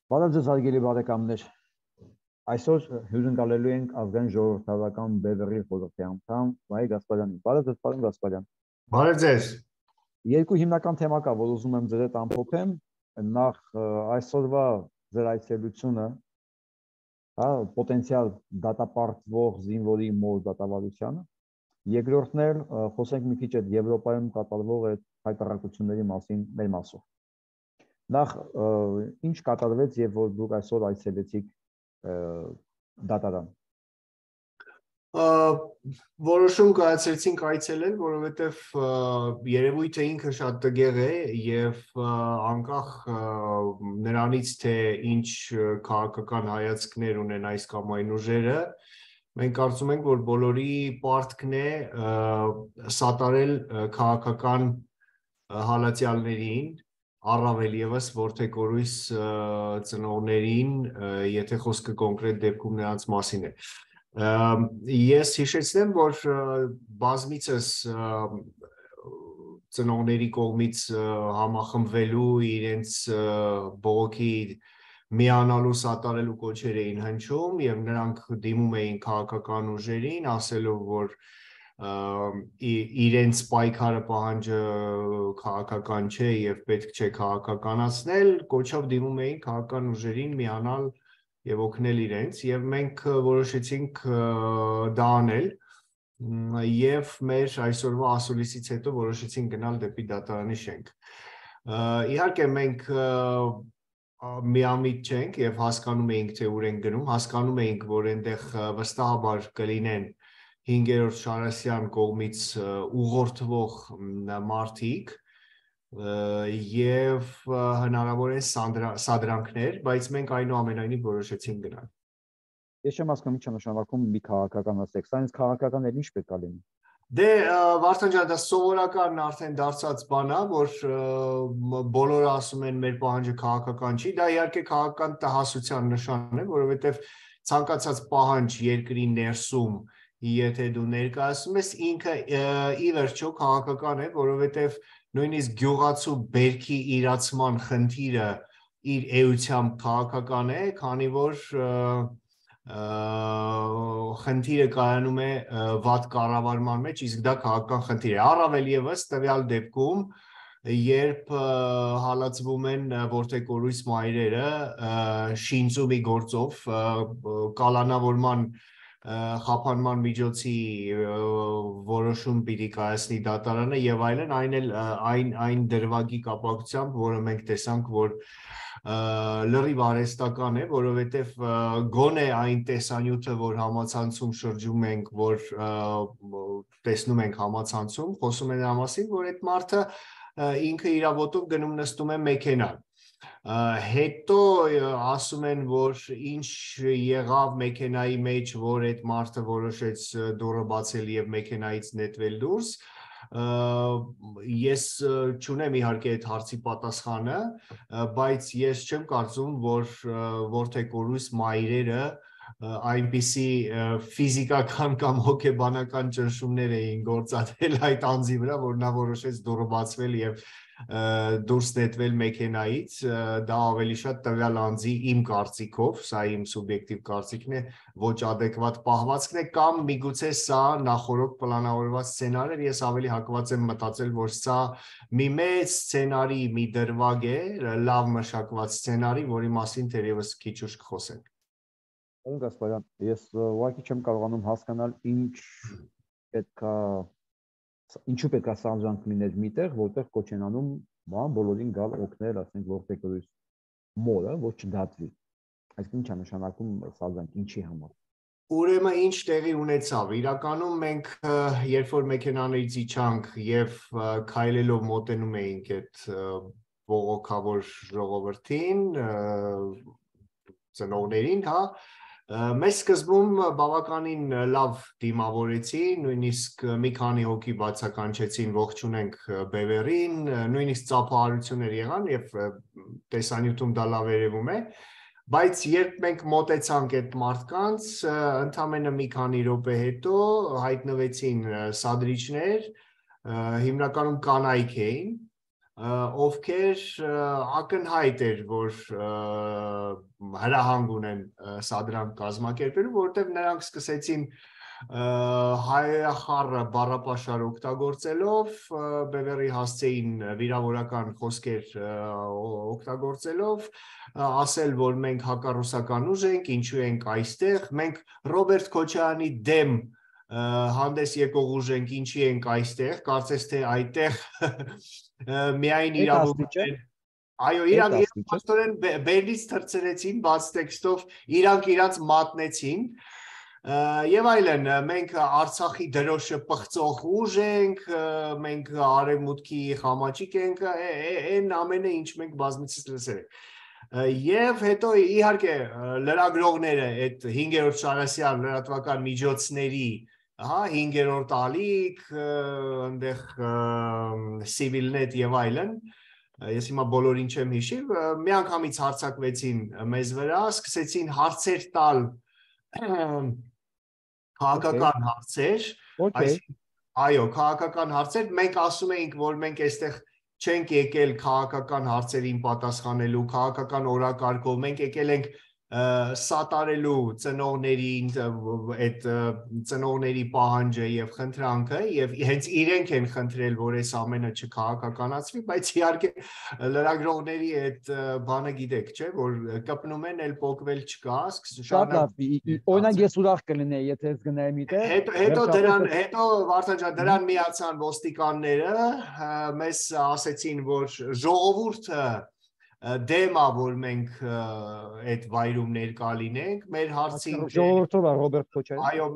Բարև ձեզ հարգելի բարեկամներ։ Այսօր հյուրընկալելու ենք ազգային ժողովրդավարական բևեռի խորհրդի անդամ Վահե Գասպարյանին։ Բարև ձեզ, պարոն Գասպարյան։ Բարև ձեզ։ Երկու հիմնական թեմա կա, որ ուզում եմ ձեր հետ ամփոփեմ։ Նախ այսօրվա ձեր այցելությունը, պոտենցիալ դատապարտվող զինվորի մոր դատավարությանը։ Երկրորդն էլ խոսենք մի քիչ այդ Եվրոպայում կատարվող այդ հայտարարությունների մասին մեր մասով։ Նախ ինչ կատարվեց եւ որ դուք այսօր այցելեցիք դատարան։ Որոշում կայացրեցինք այցելել, որովհետեւ երևույթը ինքը շատ տգեղ է եւ անկախ նրանից թե ինչ քաղաքական հայացքներ ունեն այս կամ այն ուժերը, մենք կարծում ենք, որ բոլորի պարտքն է սատարել քաղաքական հալածյալներին, առավել եւս որդեկորույս ծնողներին, եթե խոսքը կոնկրետ դեպքում նրանց մասին է։ Ես հիշեցնեմ, որ բազմիցս ծնողների կողմից համախմբվելու իրենց բողոքի միանալու սատարելու կոչեր էին հնչում եւ նրանք դիմում էին քաղաքական ուժերին, ասելով, որ իրենց պայքարը պահանջը քաղաքական չէ եւ պետք չէ քաղաքականացնել, կոչով դիմում էին քաղաքական ուժերին միանալ եւ օգնել իրենց եւ մենք որոշեցինք դա անել եւ մեր այսօրվա ասուլիսից հետո որոշեցինք գնալ դեպի դատարանի շենք։ Իհարկե մենք միամիտ չենք եւ հասկանում էինք թե ուր ենք գնում, հասկանում էինք, որ այնտեղ վստահաբար կլինեն 5-րդ Շարասյան կողմից ուղղորդվող մարդիկ եւ հնարավոր է սադրանքներ, բայց մենք այնուամենայնիվ որոշեցինք գնալ։ Ես չեմ հասկանում ինչ է նշանակում մի քաղաքականացեք, սա ինձ քաղաքական էլ ինչ պետք է լինի։ Դե Վարդան ջան, դա սովորական արդեն դարձած բան է, որ բոլորը ասում են մեր պահանջը քաղաքական չի, դա իհարկե քաղաքական տհասության նշան է, որովհետեւ ցանկացած պահանջ երկրի ներսում եթե դու ներկայացնում ես, ինքը ի վերջո քաղաքական է, որովհետև նույնիսկ գյուղացու բերքի իրացման խնդիրը իր էությամբ քաղաքական է, քանի որ խնդիրը կայանում է վատ կառավարման մեջ, իսկ դա քաղաքական խնդիր է։ Առավել եւս տվյալ դեպքում, երբ հալածվում են որդեկորույս մայրերը շինծումի գործով կալանավորման խափանման միջոցի որոշում պիտի կայացնի դատարանը եւ այլն, այն դրվագի կապակցությամբ, որը մենք տեսանք, որ լրիվ արհեստական է, որովհետեւ գոնե այն տեսանյութը, որ համացանցում շրջում ենք, որ տեսնում ենք համացանցում, խոսում են նրա մասին, որ այդ մարդը ինքը իր ոտով գնում նստում է մեքենա։ Հետո ասում են, որ ինչ եղավ մեքենայի մեջ, որ այդ մարդը որոշեց դուռը բացել եւ մեքենայից նետվել դուրս, ես չունեմ իհարկե այդ հարցի պատասխանը, բայց ես չեմ կարծում, որ որդեկորույս մայրերը այնպիսի ֆիզիկական կամ հոգեբանական ճնշումներ էին գործադրել այդ անձի վրա, որ նա որոշեց դուռը բացվել եւ դուրս նետվել մեքենայից, դա ավելի շատ տվյալ անձի իմ կարծիքով, սա իմ սուբյեկտիվ կարծիքն է, ոչ adekvat պահվածքն է կամ միգուցե սա նախորդ պլանավորված սցենար էր, ես ավելի հակված եմ մտածել, որ սա մի մեծ սցենարի մի դրվագ է, լավ մշակված սցենարի, որի մասին թերևս քիչ ուշ կխոսենք։ Պարոն Գասպարյան, ես ուղղակի չեմ կարողանում հասկանալ ինչու պետք է սանձրանք լիներ միտեղ, որտեղ կոչ են անում բոլորին գալ օգնել, ասենք որդեկորույս մորը, որ չդատվի։ Այսինքն ինչ է նշանակում սանձրանք, ինչի համար։ Ուրեմն ինչ տեղի ունեցավ։ Իրականում մենք երբ որ մեքենաներից իջանք եւ քայլելով մոտենում էինք այդ բողոքավոր ժողովրդին, ծնողներին, հա, մեզ սկզբում բավականին լավ դիմավորեցի, նույնիսկ մի քանի հոգի բացականչեցին ողջունենք բևեռին, նույնիսկ ծափահարություններ եղան եւ տեսանյութում դա լավ երևում է, բայց երբ մենք մոտեցանք այդ մարդկանց, ընդամենը մի քանի րոպե հետո հայտնվեցին սադրիչներ, հիմնականում կանայք էին, ովքեր ակնհայտ էր, որ հրահանգ ունեն սադրանք կազմակերպելու, որովհետև նրանք սկսեցին հայախառը բառապաշար օգտագործելով, բևեռի հասցեին վիրավորական խոսքեր օգտագործելով, ասել, որ մենք հակառուսական ուժ ենք, ինչու ենք այստեղ, մենք Ռոբերտ Քոչարյանի դեմ հանդես եկող ուժ ենք, ինչի ենք այստեղ, կարծես թե այդտեղ միայն իրավունք են։ Այո, իրանք պաստորեն բերլից թռցրեցին, բաց տեքստով, իրանք իրանց մատնեցին եւ այլն, մենք Արցախի դրոշը պղծող ուժ ենք, մենք արևմուտքի խամաճիկ ենք, այն ամենը ինչ մենք բազմիցս լսել ենք։ Եվ հետո իհարկե լրագրողները այդ 5-րդ Շարասյան լրատվական միջոցների, 5-րդ ալիք, այնտեղ Civilnet եւ այլն, ես հիմա բոլորին չեմ հիշի, միանգամից հարձակվեցին մեզ վրա, սկսեցին հարցեր տալ քաղաքական հարցեր, այո, քաղաքական հարցեր, մենք ասում էինք, որ մենք այստեղ չենք եկել քաղաքական հարցերին պատասխանելու, քաղաքական օրակարգով, մենք եկել ենք սատարելու ծնողներին, այդ ծնողների պահանջը եւ խնդրանքը եւ հենց իրենք են խնդրել, որ այս ամենը չքաղաքականացվի, բայց իհարկե լրագրողների այդ բանը գիտեք, չէ, որ կպնում են, էլ փոկվել չկա, շատ լավ, օրինակ ես ուրախ կլինեի, եթե ես գնայի միտեղ։ Հետո Վարդան ջան, դրան միացան ոստիկանները, մեզ ասեցին, որ ժողովուրդը դեմա, որ մենք այդ վայրում ներկա լինենք, մեր հարցին ժողովուրդով Ռոբերտ Քոչարյան։ Այո,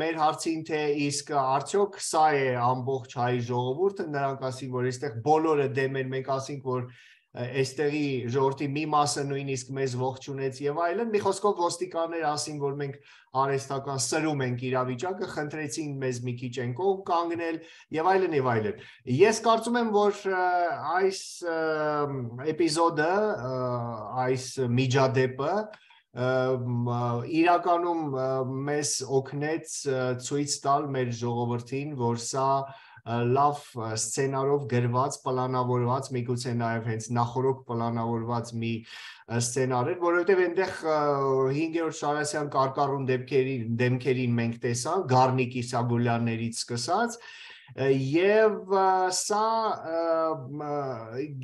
մեր հարցին թե իսկ արդյոք սա է ամբողջ հայ ժողովուրդը, նրանք ասին, որ այստեղ բոլորը դեմ են, մենք ասինք, որ այստեղի ժողովրդի մի մասը նույնիսկ մեզ ողջունեց եւ այլն, մի խոսքով ոստիկաններ ասին, որ մենք արհեստական սրում ենք իրավիճակը, խնդրեցին մեզ մի քիչ են կողմ կանգնել եւ այլն եւ այլն։ Ես կարծում եմ, որ այս էպիզոդը, այս միջադեպը իրականում մեզ օգնեց ցույց տալ մեր ժողովրդին, որ սա լավ սցենարով գրված, պլանավորված, միգուցե նաև հենց նախորդ պլանավորված մի սցենար էր, որովհետև այնտեղ 5-րդ Շարասյան կարկառուն դեմքերին մենք տեսանք, Գառնիկ Իսագուլյաններից սկսած, եւ սա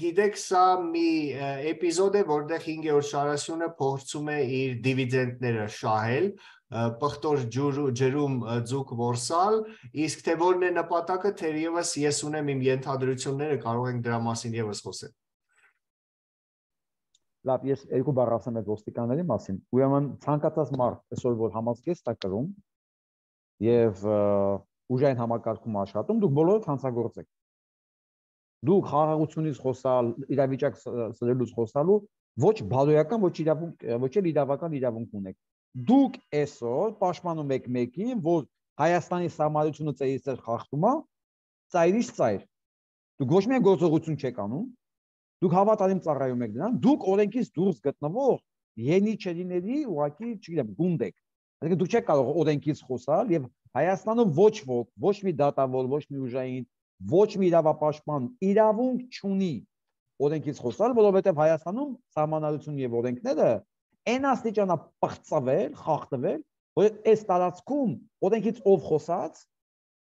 գիտեք, սա մի էպիզոդ է, որտեղ 5-րդ Շարասյունը փորձում է իր դիվիդենդները շահել, պղտոր ջրում ձուկ որսալ, իսկ թե որն է նպատակը, թերևս ես ունեմ իմ ենթադրությունները, կարող ենք դրա մասին եւս խոսել։ Լավ, ես երկու բառ ասեմ այդ ոստիկանների մասին։ Ուրեմն ցանկացած մարդ այսօր որ համազգեստ է կրում եւ ուժային համակարգում աշխատում, դուք բոլորդ հանցագործ եք։ Դուք խաղաղությունից խոսալ, իրավիճակ սրելուց խոսալու ոչ բարոյական, ոչ էլ իրավական իրավունք ունեք։ Դուք այսօր պաշտպանում եք մեկին, որ Հայաստանի սահմանությունը ծայրից ծայր խախտում է, ծայրից ծայր։ Դուք ոչ միայն գործողություն չեք անում, դուք հավատարիմ ծառայում եք նրան, դուք օրենքից դուրս գտնվող ենիչերիների ուղղակի, չգիտեմ, գունդ եք։ Այսինքն դուք չեք կարող օրենքից խոսալ եւ Հայաստանում ոչ ոք, ոչ մի դատավոր, ոչ մի ուժային, ոչ մի իրավապաշտպան իրավունք չունի օրենքից խոսալ, որովհետեւ Հայաստանում սահմանադրություն եւ օրենքները այն աստիճանա պղծվել, խախտվել, որ այս տարածքում օրենքից ով խոսած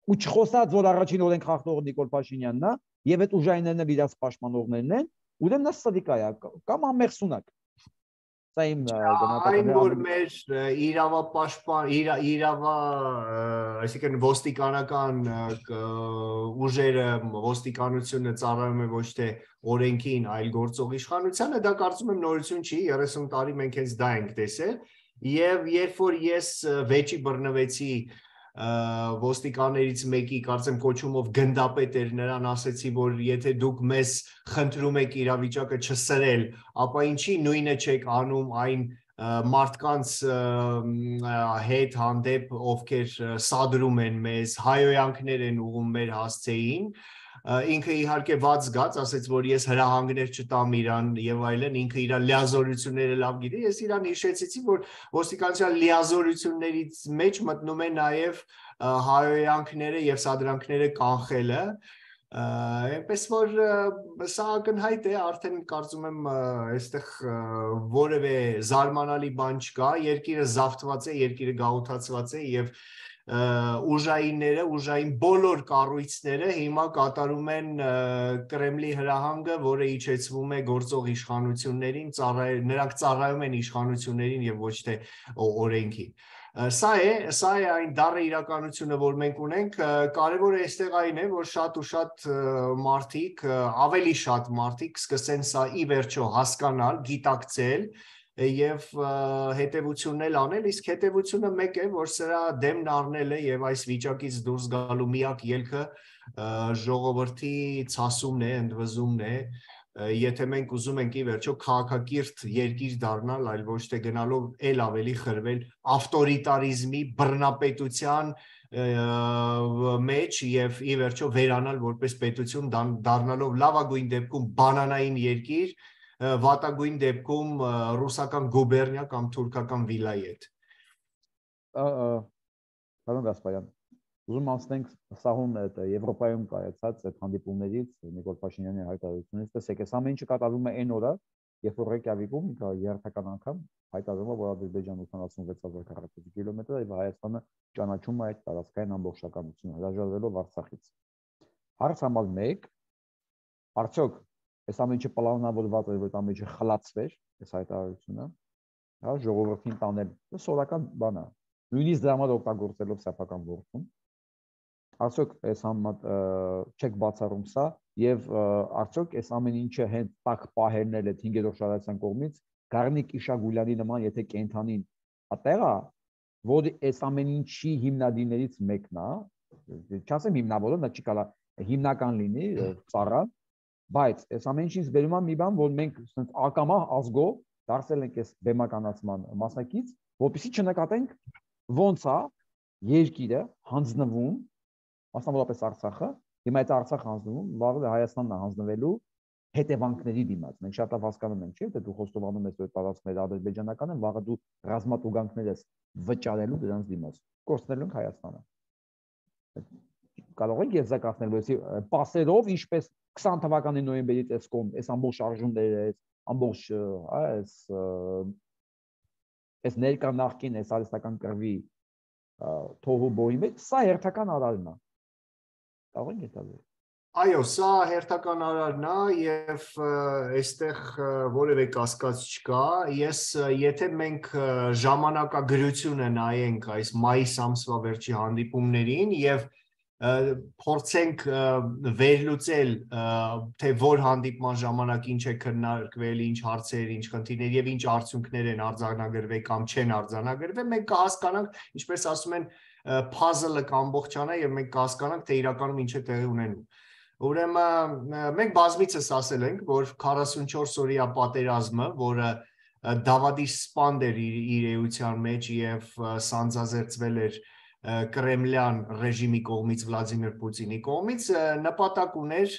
ու չխոսած, որ առաջին օրենք խախտողը Նիկոլ Փաշինյանն է եւ այդ ուժայիններն էլ իրաց պաշտպանողներն են, ուրեմն նա սրիկա է կամ ամեղսունակ։ Սա իմ այն որ մեր իրավապաշտպան այսինքն ոստիկանական ուժերը, ոստիկանությունը ծառայում է ոչ թե օրենքին, այլ գործող իշխանությանը, դա կարծում եմ նորություն չի, 30 տարի մենք հենց դա ենք տեսել, եւ երբ որ ես վեճի բռնվեցի ոստիկաններից մեկի, կարծեմ կոչումով գնդապետ էր, նրան ասեցի, որ եթե դուք մեզ խնդրում եք իրավիճակը չսրել, ապա ինչի նույնը չեք անում այն մարդկանց հետ հանդեպ, ովքեր սադրում են մեզ, հայոյանքներ են ուղում մեր հասցեին, ինքը իհարկե ված զգաց, ասեց, որ ես հրահանգներ չտամ իրան եւ այլն, ինքը իր լիազորությունները լավ գիտի, ես իրան հիշեցի, որ ոստիկանության լիազորություններից մեջ մտնում է նաեւ հայոյանքները եւ սադրանքները կանխելը, Այնպես որ սա ակնհայտ է, արդեն կարծում եմ այստեղ որևէ զարմանալի բան չկա, երկիրը զավթված է, երկիրը գաղութացված է եւ ուժային բոլոր կառույցները հիմա կատարում են Կրեմլի հրահանգը, որը իջեցվում է գործող իշխանություններին, նրանք ծառայում են իշխանություններին եւ ոչ թե օրենքին։ Սա է այն դառը իրականությունը, որ մենք ունենք, կարևորը այստեղ այն է, որ շատ ու շատ մարդիկ, ավելի շատ մարդիկ սկսեն սա ի վերջո հասկանալ, գիտակցել եւ հետեւությունն անել, իսկ հետեւությունը մեկ է, որ սրա դեմն առնելը եւ այս վիճակից դուրս գալու միակ ելքը ժողովրդի ցասումն է, ընդվզումն է, եթե մենք ուզում ենք ի վերջո քաղաքակիրթ երկիր դառնալ, այլ ոչ թե գնալով ել ավելի խրվել ավտորիտարիզմի, բռնապետության մեջ եւ ի վերջո վերանալ որպես պետություն, դառնալով լավագույն դեպքում բանանային երկիր, վատագույն դեպքում ռուսական գուբերնիա կամ թուրքական վիլայետ։ Պարոն Գասպարյան, ուզում անցնենք սահուն այդ Եվրոպայում կայացած այդ հանդիպումներից, Նիկոլ Փաշինյանի հայտարարությունից, տեսեք, այս ամեն ինչը կատարվում է այն օրը, երբ որ Ռեյկյավիկում երթական անգամ հայտարարվում է, որ Ադրբեջանը 86,000 քառակուսի կիլոմետր եւ Հայաստանը ճանաչում է այդ տարածքային ամբողջականությունը, հրաժարվելով Արցախից։ Հարց համար 1. Արդյոք այս ամեն ինչը պլանավորված էր, որ ամեն ինչը խլացվեր, այս հայտարարությունը, հա, ժողովրդին տանել, սովորական բան է, նույնիսկ դրա համար օգտագործելով սեփական ворթում։ Արդյոք այս չեք բացառում սա եւ արդյոք այս ամեն ինչը հենց տակ պահերնել այդ 5-րդ շարացան կողմից Գառնիկ Իշագուլյանի նման եթե կենթանին ատեղա, որ այս ամեն ինչի հիմնադիրներից մեկն է, չասեմ հիմնավորը, դա չի կարա հիմնական լինի ծառա, բայց այս ամեն ինչից բերում է մի բան, որ մենք ասենք ակամա ազգով դարձել ենք այս բեմականացման մասնակից, որպեսզի չնկատենք ոնց է երկիրը հանձնվում, մասնավորապես Արցախը, հիմա այդ Արցախը հանձնվում, վաղը Հայաստանն է հանձնվելու հետևանքների դիմաց։ Մենք շատ լավ հասկանում ենք, չէ՞, թե դու խոստովանում ես, որ տարածքները ադրբեջանական են, վաղը դու ռազմատուգանքներ ես վճարելու դրանց դիմաց, կորցնելու ենք Հայաստանը։ Կարող ենք եզրակացնել, որ պասերով, ինչպես 20 թվականի նոյեմբերից այս կողմ, այս ամբողջ շարժումները, այս այս ներկա նախկին, այս արհեստական կռվի թոհու բոյի մեջ, սա հերթական արարն է։ Կարող ենք հետևել։ Այո, սա հերթական արարն է եւ այստեղ որևէ կասկած չկա։ Եթե մենք ժամանակագրությունը նայենք այս մայիս ամսվա վերջի հանդիպումներին եւ փորձենք վերլուծել թե որ հանդիպման ժամանակ ինչ է քննարկվել, ինչ հարցեր, ինչ խնդիրներ եւ ինչ արդյունքներ են արձանագրվել կամ չեն արձանագրվել, մենք կհասկանանք, ինչպես ասում են, puzzle-ը կամբողջանա եւ մենք կհասկանանք, թե իրականում ինչ է տեղի ունենում։ Ուրեմն մենք բազմիցս ասել ենք, որ 44 օրյա պատերազմը, որը դավադի սպանդ էր իր էության մեջ եւ սանձազերծվել էր Կրեմլյան ռեժիմի կողմից, Վլադիմիր Պուտինի կողմից, նպատակ ուներ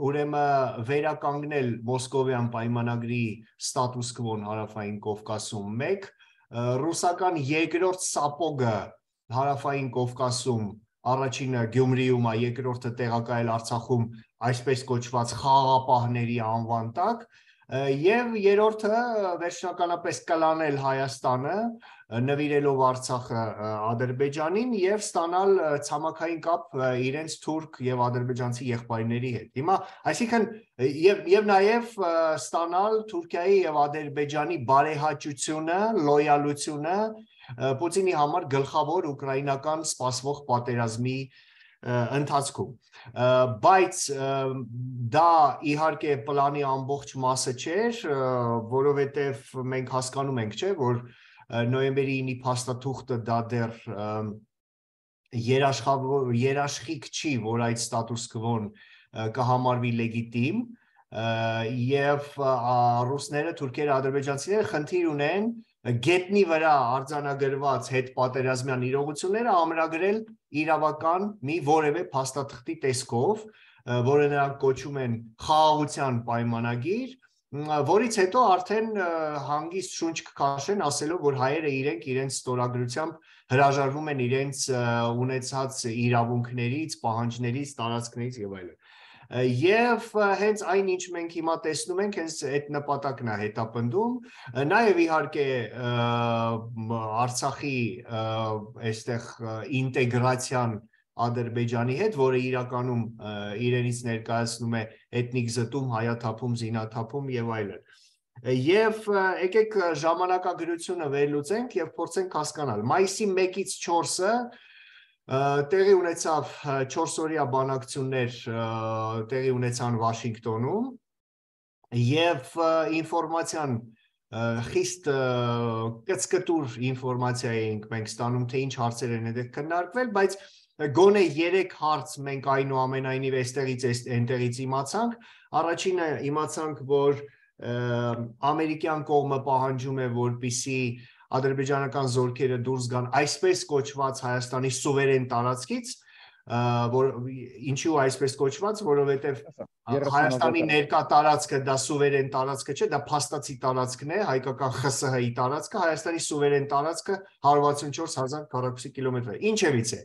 ուրեմն վերականգնել Մոսկովյան պայմանագրի ստատուս քվոն հարավային Կովկասում 1, ռուսական երկրորդ սապոգը հարավային Կովկասում, առաջինը Գյումրիում է, երկրորդը տեղակայել Արցախում այսպես կոչված խաղաղապահների անվան տակ, եւ երրորդը վերջնականապես կլանել Հայաստանը, նվիրելով Արցախը Ադրբեջանին եւ ստանալ ցամաքային կապ իրենց թուրք եւ ադրբեջանցի եղբայրների հետ։ Հիմա, այսինքն եւ նաեւ ստանալ Թուրքիայի եւ Ադրբեջանի բարեհաճությունը, լոյալությունը Պուտինի համար գլխավոր ուկրաինական սպասվող պատերազմի ընթացքում, բայց դա իհարկե պլանի ամբողջ մասը չէր, որովհետև մենք հասկանում ենք, չէ, որ նոյեմբերի 9-ի փաստաթուղթը դա դեռ երաշխիք չի, որ այդ ստատուս քվոն կհամարվի լեգիտիմ, եւ ռուսները, թուրքերը, ադրբեջանցիները խնդիր ունեն գետնի վրա արձանագրված հետպատերազմյան իրողությունները ամրագրել իրավական մի որևէ փաստաթղթի տեսքով, որը նրանք կոչում են խաղաղության պայմանագիր, որից հետո արդեն հանգիստ շունչ կքաշեն, ասելով, որ հայերը իրենց ստորագրությամբ հրաժարվում են իրենց ունեցած իրավունքներից, պահանջներից, տարածքներից եւ այլն։ Եվ հենց այն ինչ մենք հիմա տեսնում ենք, հենց այդ նպատակն է հետապնդում, նաև իհարկե Արցախի այստեղ ինտեգրացիան Ադրբեջանի հետ, որը իրականում իրենից ներկայացնում է էթնիկ զտում, հայաթափում, զինաթափում եւ այլն։ Եվ եկեք ժամանակագրությունը վերլուծենք եւ փորձենք հասկանալ։ Մայիսի 1-ից 4-ը տեղի ունեցավ 4-օրյա բանակցություններ տեղի ունեցան Վաշինգտոնում եւ ինֆորմացիան խիստ կծկտուր ինֆորմացիա էինք մենք ստանում, թե ինչ հարցեր են այդտեղ քննարկվել, բայց գոնե 3 հարց մենք այնուամենայնիվ այստեղից այնտեղից իմացանք։ Առաջինը իմացանք, որ ամերիկյան կողմը պահանջում է, որպեսզի ադրբեջանական զորքերը դուրս գան այսպես կոչված Հայաստանի սուվերեն տարածքից, որ ինչու այսպես կոչված, որովհետև Հայաստանի ներկա տարածքը դա սուվերեն տարածքը չէ, դա փաստացի տարածքն է, հայկական ԽՍՀ-ի տարածքը, Հայաստանի սուվերեն տարածքը 164,000 քառակուսի կիլոմետր է։ Ինչևից է։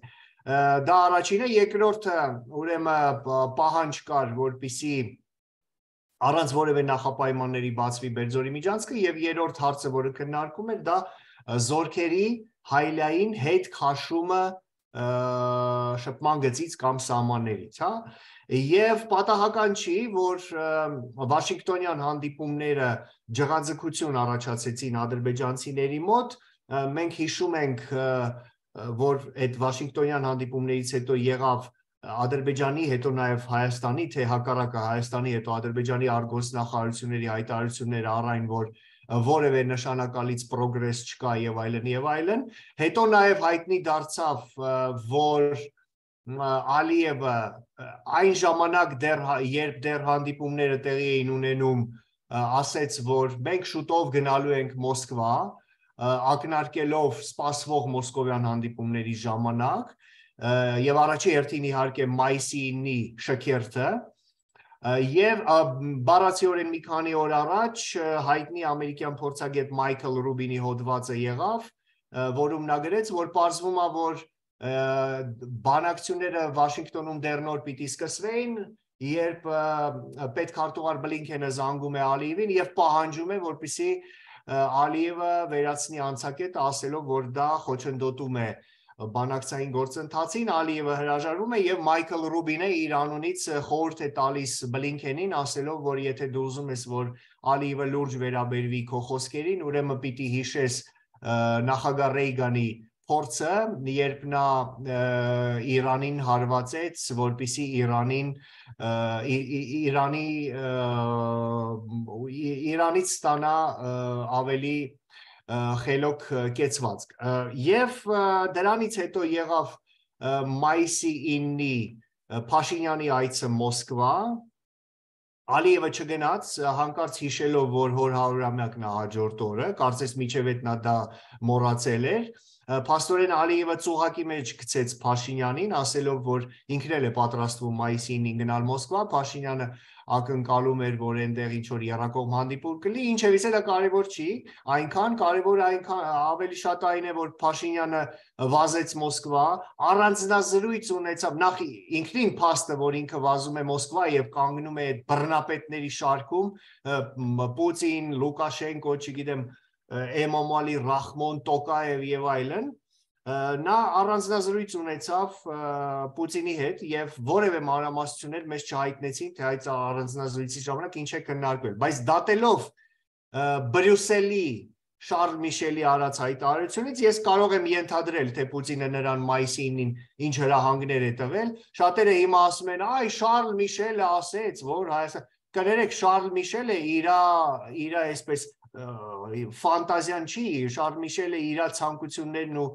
Դա առաջինը, երկրորդը ուրեմն պահանջ կար, որպեսզի առանց որևէ նախապայմանների բացվի Բերձորի միջանցքը, եւ երրորդ հարցը, որը քննարկում էր, դա զորքերի հայլային հետ քաշումը շփման գծից կամ սահմաններից, հա, եւ պատահական չի, որ Վաշինգտոնյան հանդիպումները ջղաձգություն առաջացեցին ադրբեջանցիների մոտ, մենք հիշում ենք, որ այդ Վաշինգտոնյան հանդիպումներից հետո եղավ Ադրբեջանի, հետո նաև Հայաստանի, թե հակառակը Հայաստանի, հետո Ադրբեջանի արտգործնախարարությունների հայտարարությունները առ այն, որ որևէ նշանակալից պրոգրես չկա եւ այլն եւ այլն։ Հետո նաև հայտնի դարձավ, որ Ալիևը այն ժամանակ երբ դեռ հանդիպումները տեղի էին ունենում, ասեց, որ մենք շուտով գնալու ենք Մոսկվա, ակնարկելով սպասվող մոսկովյան հանդիպումների ժամանակ, եւ առաջի հերթին իհարկե մայիսի 9-ի շքերթը, եւ բառացիորեն մի քանի օր առաջ հայտնի ամերիկյան փորձագետ Մայքլ Ռուբինի հոդվածը եղավ, որում նա գրեց, որ պարզվում է, որ բանակցությունները Վաշինգտոնում դեռ նոր պիտի սկսվեին, երբ պետքարտուղար Բլինքենը զանգում է Ալիևին եւ պահանջում է, որպեսզի Ալիևը վերացնի անցակետը, ասելով, որ դա խոչընդոտում է բանակցային գործընթացին, Ալիևը հրաժարվում է եւ Մայքլ Ռուբինը իր անունից խորհուրդ է տալիս Բլինքենին, ասելով, որ եթե դու ուզում ես, որ Ալիևը լուրջ վերաբերվի քո խոսքերին, ուրեմն պիտի հիշես նախագահ Ռեյգանի փորձը, երբ նա Իրանին հարվածեց, որպեսզի Իրանից ստանա ավելի խելոք կեցվածք։ Եվ դրանից հետո եղավ մայիսի 9-ի Փաշինյանի այցը Մոսկվա, Ալիևը չգնաց, հանկարծ հիշելով, որ հոր 100-ամյակն է հաջորդ օրը, կարծես միջև այդ նա դա մոռացել էր, փաստորեն Ալիևը ծուղակի մեջ գցեց Փաշինյանին, ասելով, որ ինքն էլ է պատրաստվում մայիսի 9-ին գնալ Մոսկվա, Փաշինյանը ակնկալում էր, որ այնտեղ ինչ-որ եռակողմ հանդիպում կլինի, ինչևից էլ դա կարևոր չի, այնքան կարևորը ավելի շատ այն է, որ Փաշինյանը վազեց Մոսկվա, առանձնազրույց ունեցավ, նախ ինքնին փաստը, որ ինքը վազում է Մոսկվա եւ կանգնում է այդ բռնապետների շարքում, Պուտին, Լուկաշենկո, չգիտեմ, Էմոմալի, Ռախմոն, Տոկաև եւ այլն, նա առանձնազրույց ունեցավ Պուտինի հետ եւ որևէ մանրամասնություններ մեզ չհայտնեցին, թե այդ առանձնազրույցի ժամանակ ինչ է քննարկվել, բայց դատելով Բրյուսելի Շարլ Միշելի արած հայտարարությունից ես կարող եմ ենթադրել, թե Պուտինը նրան մայիսի 9-ին ինչ հրահանգներ է տվել, շատերը հիմա ասում են, այ Շարլ Միշելը ասեց, որ Հայաստան, կներեք, Շարլ Միշելը իր այսպես ֆանտազիան չի, Շարլ Միշելը իր ցանկություններն ու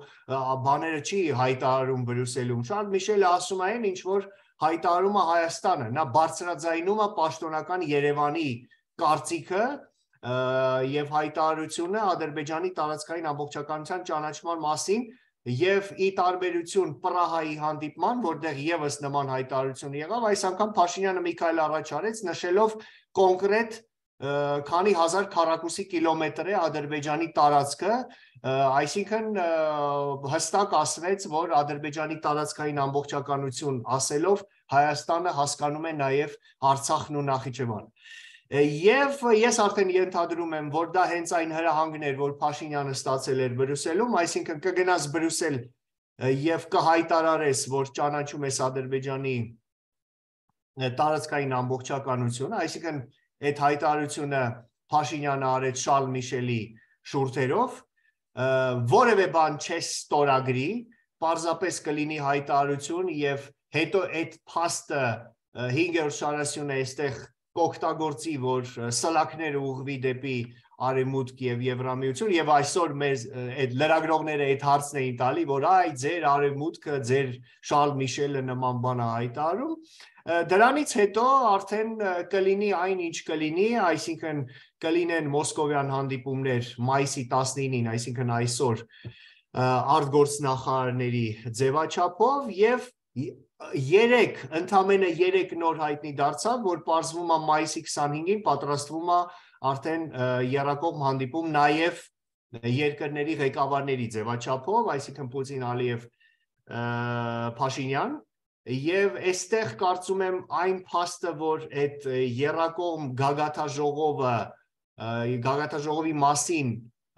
բաները չի հայտարարում Բրյուսելում, Շարլ Միշելը ասում է այն, ինչ որ հայտարարում է Հայաստանը, նա բարձրաձայնում է պաշտոնական Երևանի կարծիքը եւ հայտարարությունը Ադրբեջանի տարածքային ամբողջականության ճանաչման մասին եւ ի տարբերություն Պրահայի հանդիպման, որտեղ եւս նման հայտարարություն եղավ, այս անգամ Փաշինյանը մի քայլ առաջ արեց, նշելով կոնկրետ քանի հազար քառակուսի կիլոմետր է Ադրբեջանի տարածքը, այսինքն հստակ ասվեց, որ Ադրբեջանի տարածքային ամբողջականություն ասելով Հայաստանը հասկանում է նաև Արցախն ու Նախիջևանը։ Եվ ես արդեն ենթադրում եմ, որ դա հենց այն հրահանգն էր, որ Փաշինյանը ստացել էր Բրյուսելում, այսինքն կգնաս Բրյուսել եւ կհայտարարես, որ ճանաչում ես Ադրբեջանի տարածքային ամբողջականությունը, այսինքն այդ հայտարարությունը Փաշինյանը արեց Շարլ Միշելի շուրթերով, որևէ բան չես ստորագրի, պարզապես կլինի հայտարարություն եւ հետո այդ փաստը 5-րդ շարասյունը այստեղ կօգտագործի, որ սլաքները ուղղվի դեպի Արևմուտք եւ Եվրամիություն եւ այսօր մեզ այդ լրագրողները այդ հարցն էին տալի, որ այ ձեր Արևմուտքը, ձեր Շարլ Միշելը նման բան է հայտարարում, դրանից հետո արդեն կլինի այն ինչ կլինի, այսինքն կլինեն մոսկովյան հանդիպումներ մայիսի 19-ին, այսինքն այսօր արտգործնախարարների ձևաչափով եւ ընդամենը 3 նոր հայտնի դարձավ, որ պարզվում է մայիսի 25-ին պատրաստվում է արդեն եռակողմ հանդիպում նաև երկրների ղեկավարների ձևաչափով, այսինքն Պուտին, Ալիև, Փաշինյան, եւ այստեղ կարծում եմ այն փաստը, որ այդ եռակողմ գագաթաժողովի մասին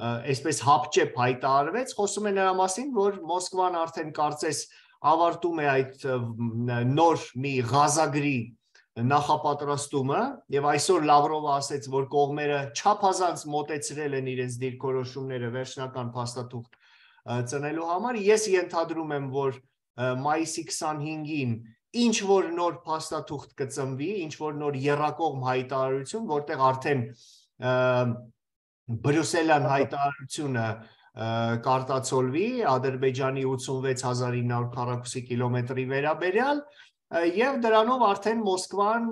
այսպես հապճեպ հայտարարվեց, խոսում է նրա մասին, որ Մոսկվան արդեն կարծես ավարտում է այդ նոր մի ղազագրի նախապատրաստումը եւ այսօր Լավրովը ասեց, որ կողմերը չափազանց մոտեցրել են իրենց դիրքորոշումները վերջնական փաստաթուղթ ծնելու համար։ Ես ենթադրում եմ, որ մայիսի 25-ին ինչ որ նոր փաստաթուղթ կծնվի, ինչ որ նոր եռակողմ հայտարարություն, որտեղ արդեն Բրյուսելյան հայտարարությունը կարտացոլվի Ադրբեջանի 86900 քառակուսի կիլոմետրի վերաբերյալ եւ դրանով արդեն Մոսկվան,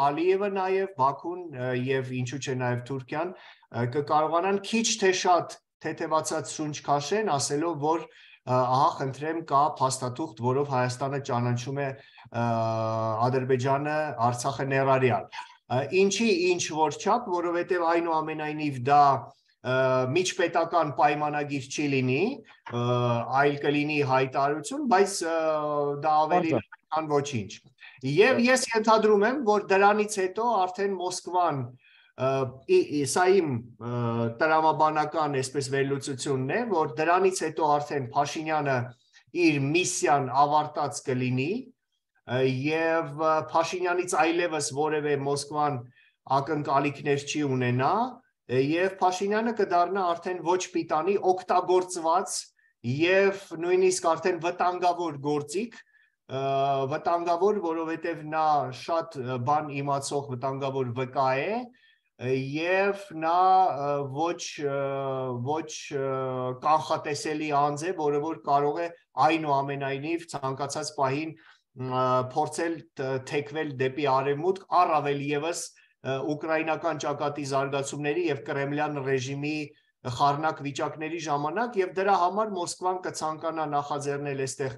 Ալիևը նաեւ Բաքուն եւ ինչու՞ չէ նաեւ Թուրքիան կկարողանան քիչ թե շատ թեթևացած շունչ քաշեն, ասելով, որ ահա խնդրեմ կա փաստաթուղթ, որով Հայաստանը ճանաչում է Ադրբեջանը, Արցախը ներառյալ։ Ինչի ինչ որ չափ, որովհետև այնուամենայնիվ դա միջպետական պայմանագիր չի լինի, այլ կլինի հայտարարություն, բայց դա ավելի քան ոչինչ։ Եվ ես ենթադրում եմ, որ դրանից հետո արդեն Մոսկվան, սա իմ տրամաբանական այսպես վերլուծությունն է, որ դրանից հետո արդեն Փաշինյանը իր միսիան ավարտած կլինի եւ Փաշինյանից այլևս որևէ Մոսկվան ակնկալիքներ չի ունենա եւ Փաշինյանը կդառնա արդեն ոչ պիտանի օգտագործված եւ նույնիսկ արդեն վտանգավոր գործիք, վտանգավոր, որովհետեւ նա շատ բան իմացող վտանգավոր վկա է եւ նա ոչ կանխատեսելի անձ է, որը որ կարող է այնուամենայնիվ ցանկացած պահին փորձել թեքվել դեպի արևմուտք, առավել եւս ուկրաինական ճակատի զարգացումների եւ կրեմլյան ռեժիմի խառնակ վիճակների ժամանակ եւ դրա համար Մոսկվան կցանկանա նախաձեռնել այստեղ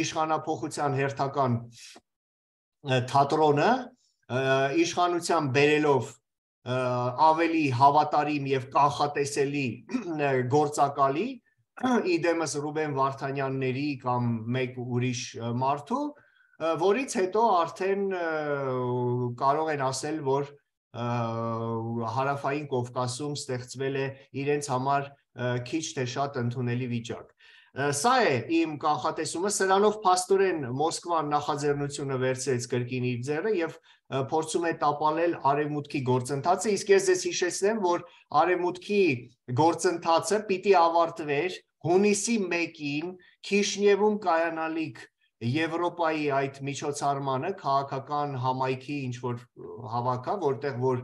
իշխանափոխության հերթական թատրոնը, իշխանության բերելով ավելի հավատարիմ եւ կանխատեսելի գործակալի, իդեմս Ռուբեն Վարդանյանների կամ մեկ ուրիշ մարդու, որից հետո արդեն կարող են ասել, որ հարավային Կովկասում ստեղծվել է իրենց համար քիչ թե շատ ընդունելի վիճակ։ Սա է իմ կանխատեսումը, սրանով փաստորեն Մոսկվան նախաձեռնությունը վերցրեց կրկին իր ձեռը եւ փորձում է տապալել արևմուտքի գործընթացը, իսկ ես ձեզ հիշեցնեմ, որ արևմուտքի գործընթացը պիտի ավարտվեր հունիսի 1-ին Քիշնևում կայանալիք Եվրոպայի այդ միջոցառմանը, քաղաքական համայնքի ինչ որ հավաքը, որտեղ որ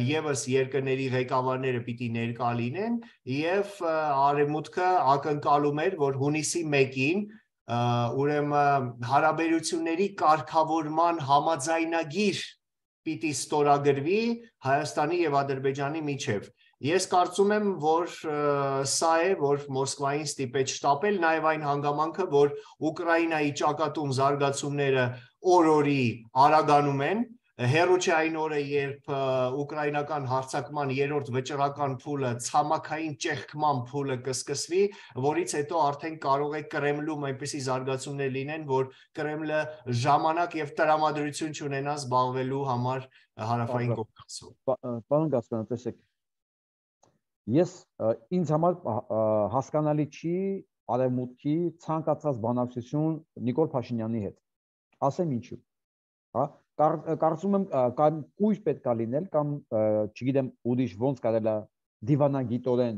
եւս երկրների ղեկավարները պիտի ներկա լինեն եւ արևմուտքը ակնկալում էր, որ հունիսի 1-ին ուրեմն հարաբերությունների կարգավորման համաձայնագիր պիտի ստորագրվի Հայաստանի եւ Ադրբեջանի միջեւ։ Ես կարծում եմ, որ սա է, որ Մոսկվային ստիպեց շտապել, նաեւ այն հանգամանքը, որ Ուկրաինայի ճակատում զարգացումները օր-օրի արագանում են, հերո չէ այն օրը, երբ ուկրաինական հարձակման երրորդ վճռական փուլը, ցամաքային ճեղքման փուլը կսկսվի, որից հետո արդեն կարող է Կրեմլում այնպիսի զարգացումներ լինեն, որ Կրեմլը ժամանակ եւ տրամադրություն չունենա զբաղվելու համար հարավային Կովկասում։ Պարոն Գասպարյան, տեսեք, ինձ համար հասկանալի չի Արևմուտքի ցանկացած բանակցություն Նիկոլ Փաշինյանի հետ։ Ասեմ ինչու։ Հա, կարծում եմ կամ կույր պետք է լինել կամ չգիտեմ ուրիշ ոնց կարելի է դիվանագիտորեն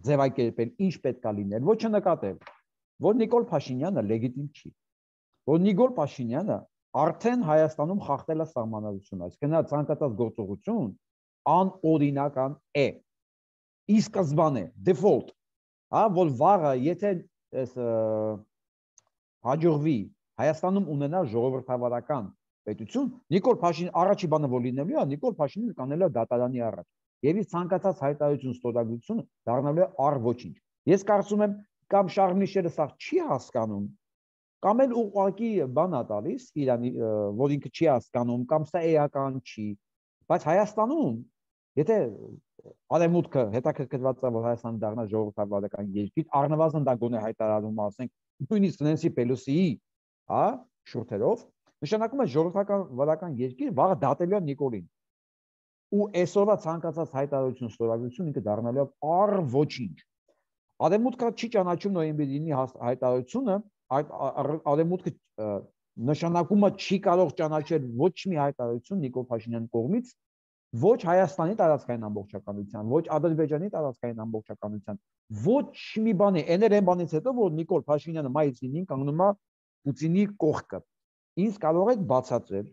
ձևակերպել ինչ պետք է լինել, ոչ նկատել, որ Նիկոլ Փաշինյանը լեգիտիմ չի, որ Նիկոլ Փաշինյանը արդեն Հայաստանում խախտել է սահմանադրությունը, այսինքն ցանկացած գործողություն անօրինական է, ի սկզբանե default, հա, որ վաղը եթե հաջողվի Հայաստանում ունենալ ժողովրդավարական պետություն, Նիկոլ Փաշինյանը առաջի բանը որ լինելու է, Նիկոլ Փաշինյանը կանել է դատարանի առաջ։ Եվ իր ցանկացած հայտարարություն ստորագրությունը դառնալու է առ-ոչինչ։ Ես կարծում եմ կամ Շարլ Միշելը սա չի հասկանում, կամ էլ ուղղակի բան է տալիս Իրանի, որ ինքը չի հասկանում, կամ սա էական չի։ Բայց Հայաստանում, եթե Արևմուտքը հետաքրքրված է, որ Հայաստանը դառնա ժողովրդավարական երկիր, առնվազն դա գոնե հայտարարում ասենք, նույնիսկ Նենսի Պելոսիի հա, շուրթերով, նշանակում է ժողովրդավարական երկիր վաղը դատելու է Նիկոլին։ Ու այսօրվա ցանկացած հայտարարություն ստորագրություն ինքը դառնալու է առ-ոչինչ։ Արևմուտքը չի ճանաչում նոյեմբերի 9-ի հայտարարությունը, Արևմուտքը նշանակումը չի կարող ճանաչել ոչ մի հայտարարություն Նիկոլ Փաշինյանի կողմից, ոչ Հայաստանի տարածքային ամբողջականության, ոչ Ադրբեջանի տարածքային ամբողջականության, ոչ մի բանի, այն բանից հետո, որ Նիկոլ Փաշինյանը մայիսի 9-ին կանգնում է Պուտինի կողքը։ Ինձ կարող եք բացատրել,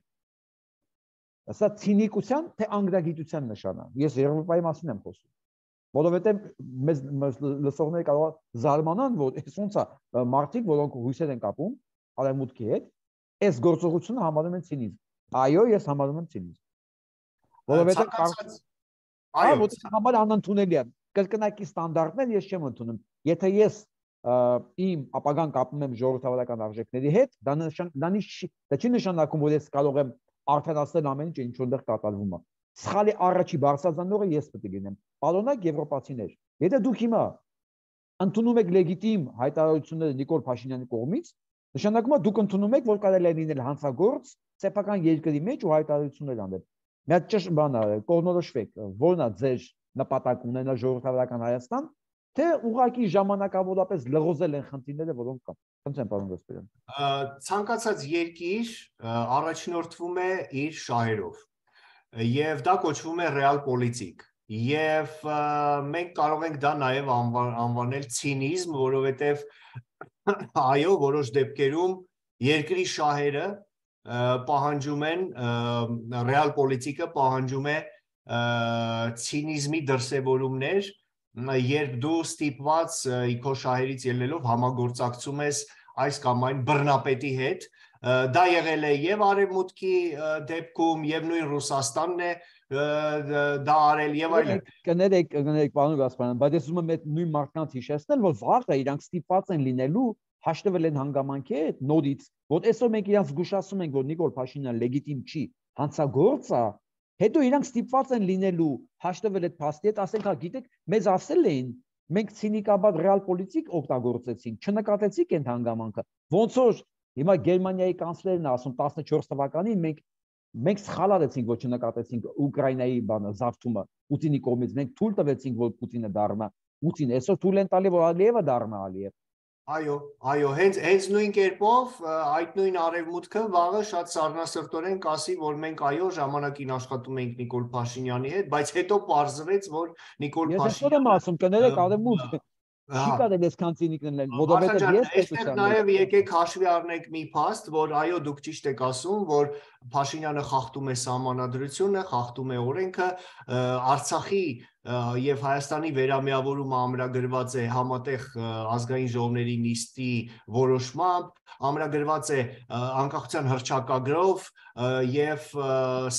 սա ցինիկության թե անգրագիտության նշան է։ Ես Եվրոպայի մասին եմ խոսում։ Որովհետև մեզ լսողները կարող են զարմանան, որ այս ոնց է մարդիկ, որոնք հույսեր են կապում Արևմուտքի հետ, այս գործողությունը համարում են ցինիզմ։ Այո, ես համարում եմ ցինիզմ։ Որովհետև այո, համար անընդունելի է։ Կրկնակի ստանդարտներ ես չեմ ընդունում։ Եթե ես իմ ապագան կապում եմ ժողովրդավարական արժեքների հետ, դա չի նշանակում, որ ես կարող եմ արդարացնել ամեն ինչ, ինչ որտեղ կատարվում է։ Սխալի առաջի բարձրացնողը ես պետք է լինեմ։ Պարոնակ եվրոպացիներ, եթե դուք հիմա ընդունում եք լեգիտիմ հայտարարությունները Նիկոլ Փաշինյանի կողմից, նշանակում է դուք ընդունում եք, որ կարելի է լինել հանցագործ սեփական երկրի մեջ ու հայտարարություններ անել։ Մի հատ ճիշտ բան է, կողմնորոշվեք, որն է ձեր նպատակ ունենալ ժողովրդավարական Հայաստան, թե ուղղակի ժամանակավորապես լղոզել են խնդիրները, որոնք կան։ Խնդրեմ, պարոն Գասպարյան։ Ցանկացած երկիր առաջնորդվում է իր շահերով, եւ դա կոչվում է ռեալ պոլիտիկ։ Եվ մենք կարող ենք դա նաև անվանել ցինիզմ, որովհետև այո, որոշ դեպքերում երկրի շահերը պահանջում են, ռեալ պոլիտիկը պահանջում է ցինիզմի դրսևորումներ, երբ դու ստիպված քո շահերից ելնելով համագործակցում ես այս կամ այն բռնապետի հետ, դա եղել է եւ Արևմուտքի դեպքում եւ նույն Ռուսաստանն է դա արել եւ այլն։ Կներեք, պարոն Գասպարյան, բայց ես ուզում եմ այդ նույն մարդկանց հիշեցնել, որ վաղը իրանք ստիպված են լինելու հաշտվել են հանգամանքի հետ նորից, որ այսօր մենք իրանք զգուշացում ենք, որ Նիկոլ Փաշինյանը լեգիտիմ չի, հանցագործ է, հետո իրանք ստիպված են լինելու հաշտվել այդ փաստի հետ, ասենք, հա, գիտեք, մեզ ասել էին, մենք ցինիկաբար ռեալ պոլիտիկ օգտագործեցինք, չնկատեցինք այդ հանգամանքը, ոնց որ հիմա Գերմանիայի կանցլերն է ասում 14 թվականին մենք սխալ արեցինք, որ չնկատեցինք Ուկրաինայի բանը զավթումը Պուտինի կողմից, մենք թույլ տվեցինք, որ Պուտինը դառնա Պուտին, այսօր թույլ են տալի, որ Ալիևը դառնա Ալիև։ Այո, հենց նույն կերպով այդ նույն Արևմուտքը վաղը շատ սառնասրտորեն կասի, որ մենք այո ժամանակին աշխատում ենք Նիկոլ Փաշինյանի հետ, բայց հետո պարզվեց, որ Նիկոլ Փաշինյանը Ես եմ ասում, կներեք Արևմուտքը չի կարելի այսքան ցինիկ լինել, որովհետև ես այստեղ նաև եկեք հաշվի առնենք մի փաստ, որ այո դուք ճիշտ եք ասում, որ Փաշինյանը խախտում է սահմանադրությունը, խախտում է օրենքը, Արցախի եւ Հայաստանի վերամիավորումը ամրագրված է համատեղ ազգային ժողովների նիստի որոշմամբ, ամրագրված է անկախության հռչակագրով եւ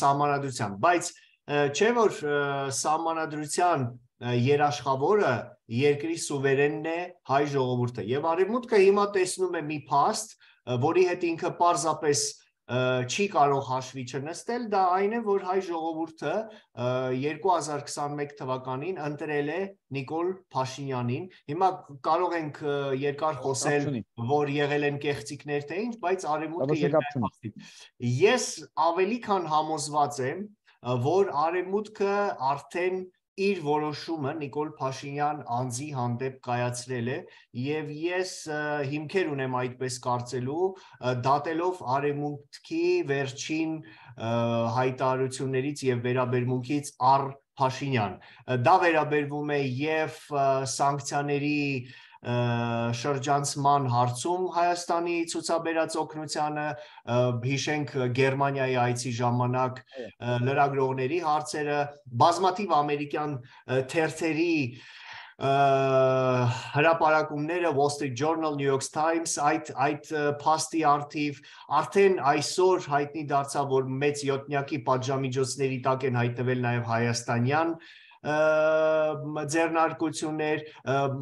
սահմանադրությամբ, բայց չէ որ սահմանադրության երաշխավորը երկրի սուվերենն է հայ ժողովուրդը եւ Արևմուտքը հիմա տեսնում է մի փաստ, որի հետ ինքը պարզապես չի կարող հաշվի չնստել, դա այն է, որ հայ ժողովուրդը 2021 թվականին ընտրել է Նիկոլ Փաշինյանին։ Հիմա կարող ենք երկար խոսել, որ եղել են կեղծիքներ թե ինչ, բայց արևմուտքը երկրաչափ։ Ես ավելի քան համոզված եմ, որ արևմուտքը արդեն իր որոշումը Նիկոլ Փաշինյան անձի հանդեպ կայացրել է եւ ես հիմքեր ունեմ այդպես կարծելու, դատելով արևմուտքի վերջին հայտարարություններից եւ վերաբերմունքից առ Փաշինյան։ Դա վերաբերվում է եւ սանկցիաների շրջանցման հարցում Հայաստանի ցուցաբերած օգնությանը, հիշենք Գերմանիայի այցի ժամանակ լրագրողների հարցերը, բազմաթիվ ամերիկյան թերթերի հրապարակումները, Wall Street Journal, New York Times, այդ փաստի արդիվ արդեն այսօր հայտնի դարձավ, որ մեծ յոթնյակի պատժամիջոցների տակ են հայտնվել նաև հայաստանյան ձեռնարկություններ,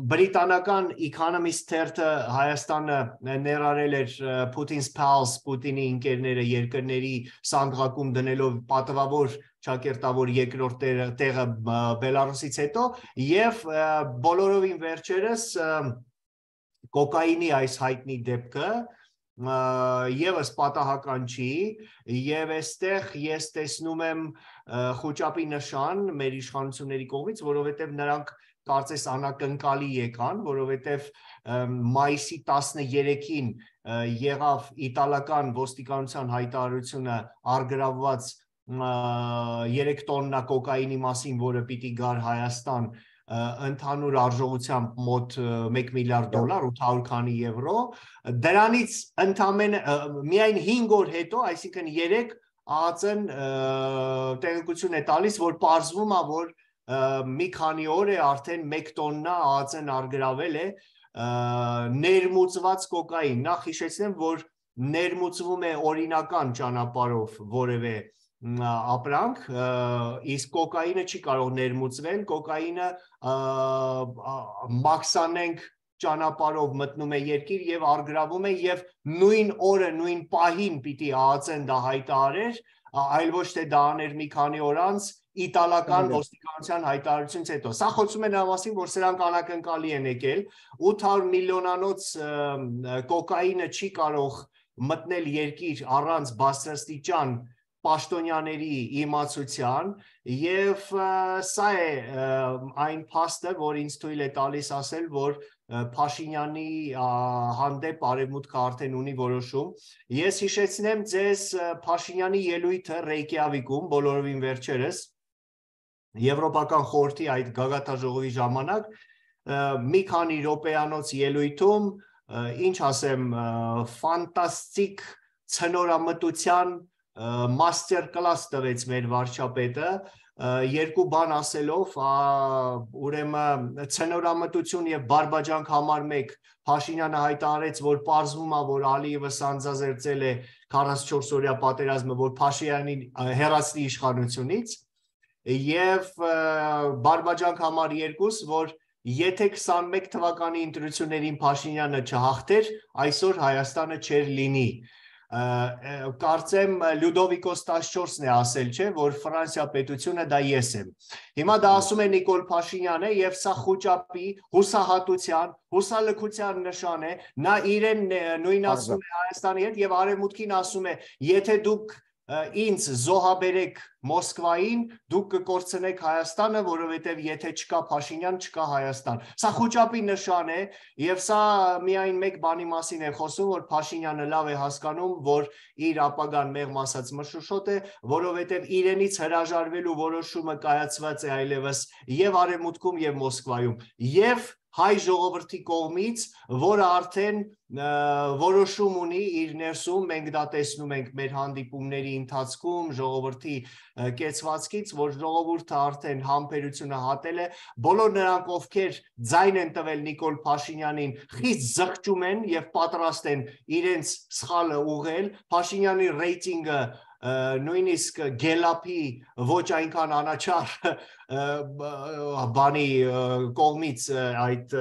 բրիտանական Economist թերթը Հայաստանը ներառել էր Putin's pals, Պուտինի ընկերները երկրների սանդղակում դնելով պատվավոր ճակերտավոր երկրորդ տեղը Բելարուսից հետո եւ բոլորովին վերջերս կոկաինի այս հայտնի դեպքը եւս պատահական չի եւ այստեղ ես տեսնում եմ խոճապի նշան մեր իշխանությունների կողմից, որովհետեւ նրանք կարծես անակնկալի եկան, որովհետեւ մայիսի 13-ին եղավ իտալական ոստիկանության հայտարարությունը արգրավված 3 տոննա կոկաինի մասին, որը պիտի գար Հայաստան ընդհանուր արժողությամբ մոտ $1 միլիարդ, 800 քանի եվրո, դրանից ընդամենը միայն 5 օր հետո, այսինքն 3 ԱԱԾ-ն տեղեկություն է տալիս, որ պարզվում է, որ մի քանի օր է արդեն 1 տոննա ԱԱԾ-ն արգրավել է ներմուծված կոկաին։ Նախ հիշեցնեմ, որ ներմուծվում է օրինական ճանապարհով որևէ ապրանք, իսկ կոկաինը չի կարող ներմուծվել, կոկաինը մաքսանենգ ճանապարհով մտնում է երկիր եւ արգրավում է եւ նույն օրը, նույն պահին պիտի ԱԱԾ-ն դա հայտարարեր, այլ ոչ թե դա աներ մի քանի օր անց իտալական ոստիկանության հայտարարությունից հետո։ Սա խոսում է նրա մասին, որ սրանք անակնկալի են եկել, 800 միլիոնանոց կոկաինը չի կարող մտնել երկիր առանց բարձրաստիճան պաշտոնյաների իմացության եւ սա է այն փաստը, որ ինձ թույլ է տալիս ասել, որ Փաշինյանի հանդեպ արևմուտքը արդեն ունի որոշում։ Ես հիշեցնեմ ձեզ Փաշինյանի ելույթը Ռեյկյավիկում բոլորովին վերջերս Եվրոպական խորհրդի այդ գագաթաժողովի ժամանակ մի քանի րոպեանոց ելույթում, ինչ ասեմ, ֆանտաստիկ ցնորամտության master class տվեց մեր վարչապետը, երկու բան ասելով, ուրեմն ցնորամտություն եւ բարբաջանք համար 1 Փաշինյանը հայտարարեց, որ պարզվում է, որ Ալիևը սանձազերծել է 44 օրյա պատերազմը, որ Փաշինյանին հեռացնի իշխանությունից, եւ բարբաջանք համար 2, որ եթե 21 թվականի ընտրություններին Փաշինյանը չհաղթեր, այսօր Հայաստանը չէր լինի։ Կարծեմ Լյուդովիկոս 14-ն է ասել, չէ, որ Ֆրանսիա պետությունը դա ես եմ։ Հիմա դա ասում է Նիկոլ Փաշինյանը եւ սա խոճապի, հուսահատության, հուսալքության նշան է։ Նա իրեն նույնացնում է Հայաստանի հետ եւ արևմուտքին ասում է, եթե դուք ինձ զոհաբերեք Մոսկվային, դուք կկորցնեք Հայաստանը, որովհետև եթե չկա Փաշինյան, չկա Հայաստան։ Սա խոճապի նշան է եւ սա միայն մեկ բանի մասին է խոսում, որ Փաշինյանը լավ է հասկանում, որ իր ապագան մեղմ ասած մշուշոտ է, որովհետև իրենից հրաժարվելու որոշումը կայացված է այլևս եւ արևմուտքում եւ Մոսկվայում եւ հայ ժողովրդի կողմից, որը արդեն որոշում ունի իր ներսում, մենք դա տեսնում ենք մեր հանդիպումների ընթացքում, ժողովրդի կեցվածքից, որ ժողովուրդը արդեն համբերությունը հատել է, բոլոր նրանք, ովքեր ձայն են տվել Նիկոլ Փաշինյանին, խիստ զղջում են եւ պատրաստ են իրենց սխալը ուղղել, Փաշինյանի ռեյտինգը նույնիսկ գելապի ոչ այնքան անաչառ բանի կողմից այդ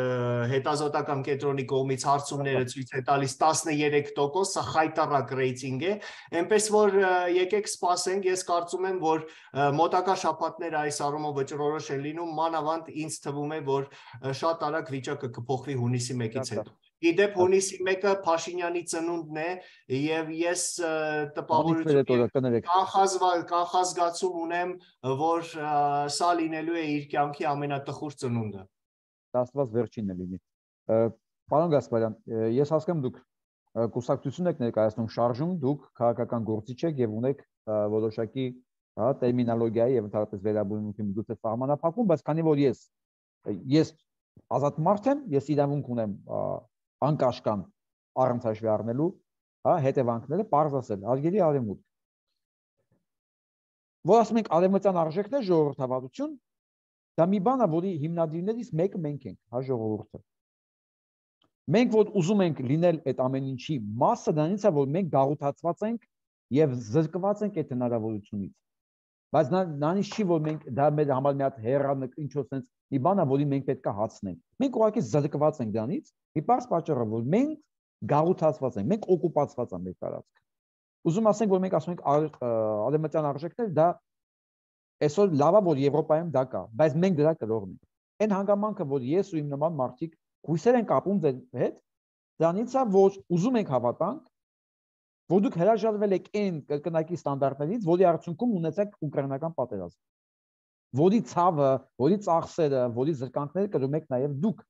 հետազոտական կենտրոնի կողմից հարցումները ցույց է տալիս 13%, սա խայտառակ ռեյտինգ է, այնպես որ եկեք սպասենք, ես կարծում եմ, որ մոտակա շաբաթները այս առումով վճռորոշ են լինում, մանավանդ ինձ թվում է, որ շատ արագ վիճակը կփոխվի հունիսի 1-ից հետո։ Իդեպ հունիսի 1-ը Փաշինյանի ծնունդն է եւ ես տպավորություն կանխազգացում ունեմ, որ սա լինելու է իր կյանքի ամենատխուր ծնունդը։ Աստված վերջինն է լինի։ Պարոն Գասպարյան, ես հասկանում դուք կուսակցություն եք ներկայացնում շարժում, դուք քաղաքական գործիչ եք եւ ունեք որոշակի տերմինոլոգիայի եւ ընդհանրապես վերաբերմունքի միջոցը սահմանափակում, բայց քանի որ ես ազատ մարդ եմ, ես իրավունք ունեմ անկաշկան առանց հաշվի առնելու հետևանքները պարզ ասել, հարգելի Արևմուտք, որ ասում ենք արևմտյան արժեքներ ժողովրդավարություն, դա մի բան է, որի հիմնադիրներից մեկը մենք ենք, ժողովուրդը։ Մենք որ ուզում ենք լինել այդ ամեն ինչի մասը, դրանից է, որ մենք գաղութացված ենք եւ զրկված ենք այդ հնարավորությունից։ Բայց նանից չի, որ մենք դա մեր համար մի հատ հեռանք ինչ-որ sense մի բան է, որին մենք պետք է հացնենք։ Մենք ուղղակի զրկված ենք դրանից, մի պարզ պատճառը, որ մենք գաղութացված ենք, մենք օկուպացված ենք մեր տարածքը։ Ուզում ասենք, որ մենք ասում ենք արևմտյան արժեքներ, դա այսօր լավ է, որ Եվրոպայում դա կա, բայց մենք դրա կրողն ենք։ Այն հանգամանքը, որ ես ու իմ նման մարդիկ հույսեր են կապում ձեր հետ, դրանից է, որ ուզում ենք հավատանք, որ դուք հրաժարվել եք այն կրկնակի ստանդարտներից, որի արդյունքում ունեցեք ուկրաինական պատերազմ, որի ցավը, որի ծախսերը, որի զրկանքները կրում եք նաև դուք։